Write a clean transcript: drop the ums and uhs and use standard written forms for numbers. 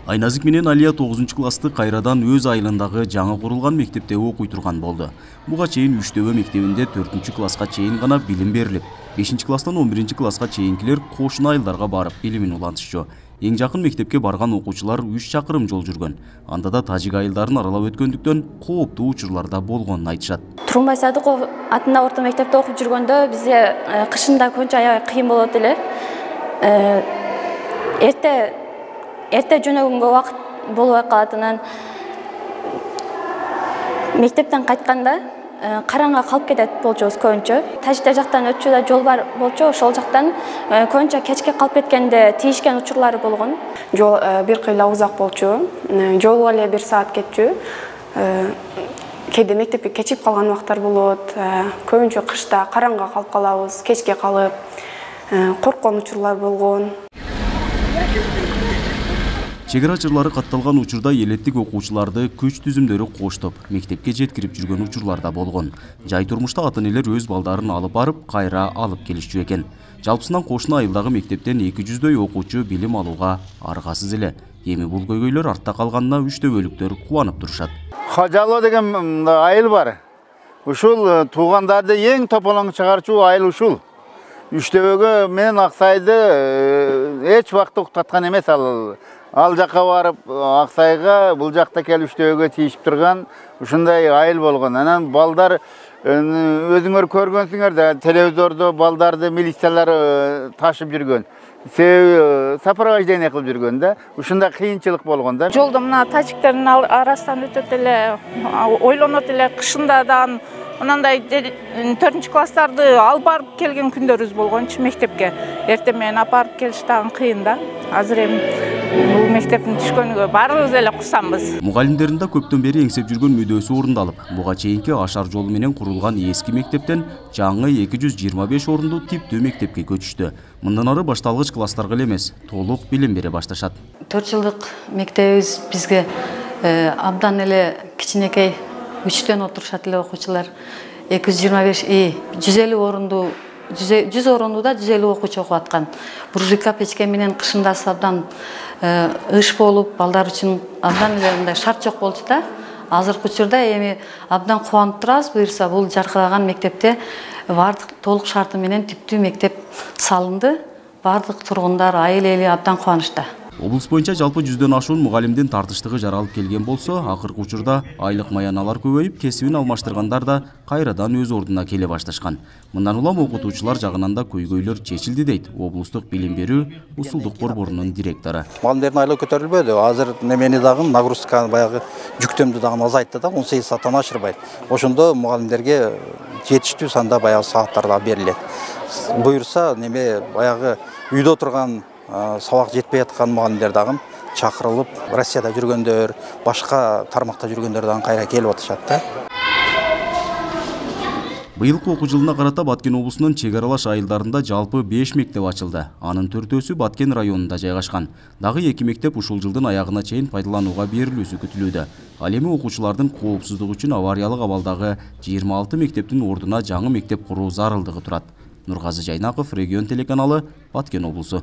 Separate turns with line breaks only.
Айназик менен Алия 9-классты кайрадан өз айылындагы жаңы курулган мектепте окуй турган болду. Буга чейин Үчтөбө мектебинде 4-класска чейин гана билим берилип, 5-класстан 11-класска чейинкилер кошуна айылдарга барып билимин улантышчу. Эң жакын мектепке барган окуучулар 3 чакырым жол жүргөн. Анда да тажик айылдарын аралап өткөндүктөн кооптуу учурлар да болгонун айтышат.
Тургунбай Садыков атында орто мектепте окуп жүргөндө бизге кышында көңчө аябай кыйын болот эле. Эрте жөнөгөнгө убакыт болбой калатынын, мектептен кайтканда караңга калып кетет болчубуз көбүнчө. Тажиктер жактан өтчү жол бар болчу, ошол жактан көбүнчө кечке калып кеткенде тийишкен учурлары болгон.
Жол бир кыйла узак болчу, жолго эле 1 саат кетчү. Кээде мектепке кечип калган убактар болот. Көбүнчө кышта караңга калып калабыз, кечке калып, корккон учурлар болгон.
Чек ара катталган учурда элеттик окуучуларды күч түзүмдөрү коштоп, мектепке жеткирип жүргөн учурлар да болгон. Жай турмушта ата-энелер өз балдарын алып барып, кайра алып келишчү экен. Жалпысынан кошуна айылдагы мектептен 200дөй окуучу билим алууга аргасыз эле. Эми бул көйгөйлөр артта калганына үчтөбөлүктөр кубанып турушат.
Хажалы деген айыл бар. Ушул туугандарды эң тополоң чыгарчу айыл ушул. Үчтөбөгө менен Аксайды эч убакта уктаткан эмес ал жакка барып Аксайга, бул жакта келип Үчтөбөгө тийишип турган ушундай айыл болгон. Анан балдар өзүңөр көргөнсүңөр да, телевизордо балдарды милициялар ташып жүргөн. Сопровождение кылып жүргөн да. Ушундай кыйынчылык болгон да.
Жолдо мына тажиктердин арасынан өтөт эле, ойлонот эле, кышында да мынандай 4-класстарды алып барып келген күндөрүбүз болгончу мектепке. Эртең менен апарып келиш дагы кыйын да. Азыр эми бул мектептин түшкөнүгө баарыбыз эле кусамбыз.
Мугалимдердин да көптөн бери эңсеп жүргөн мүдөөсү орундалып, буга чейинки ашар жолу менен курулган эски мектептен жаңы 225 орунду типтүү мектепке көчүштү. Мындан ары башталгыч класстарга эле эмес, толук билим бере башташат.
4 жылдык мектебибиз бизге абдан эле кичинекей 3төн отурушат эле окуучулар. 225 150 орунду 100 орундуда 150 окуучу окуп аткан. Буржуйка печке менен кышында абдан ыш болуп, балдар үчүн абдан эле мындай шарт жок болчу да. Азыркы учурда эми абдан кубанып турабыз. Буюрса бул жаркыраган мектепте бардык толук шарты менен типтүү мектеп салынды. Бардык тургундар, айыл эли абдан кубанычта.
Облус боюнча жалпы 100дөн ашуун мугалимдин тартыштыгы жаралып келген болсо, акыркы учурда айлык маяналар көбөйүп, кесибин алмаштыргандар да кайрадан өз ордуна келе башташкан. Мындан улам окутуучулар жагынан да көйгөйлөр чечилди дейт облустук билим берүү усулдук борборунун директору.
Мугалимдердин айлыгы көтөрүлбөдү. Азыр немени дагы нагрузка баягы жүктөмдү дагы азайтты да, 18 сааттан ашырбайт. Ошондо мугалимдерге жетиштүү санда баягы сааттар да берилет. Буюрса неме баягы үйдө отурган сабак жетпей аткан мугалимдер дагы чакырылып, Россияда жүргөндөр, башка тармакта жүргөндөр дагы кайра келип атышат да.
Быйылкы окуу жылына карата Баткен облусунун чек аралаш айылдарында жалпы 5 мектеп ачылды. Анын 4-өсү Баткен районунда жайгашкан. Дагы 2 мектеп ушул жылдын аягына чейин пайдаланууга берилүүсү күтүлүүдө. Ал эми окуучулардын коопсуздугу үчүн авариялык абалдагы 26 мектептин ордуна жаңы мектеп куруу зарылдыгы турат. Нургазы Жайнаков, Регион телеканалы, Баткен облусу.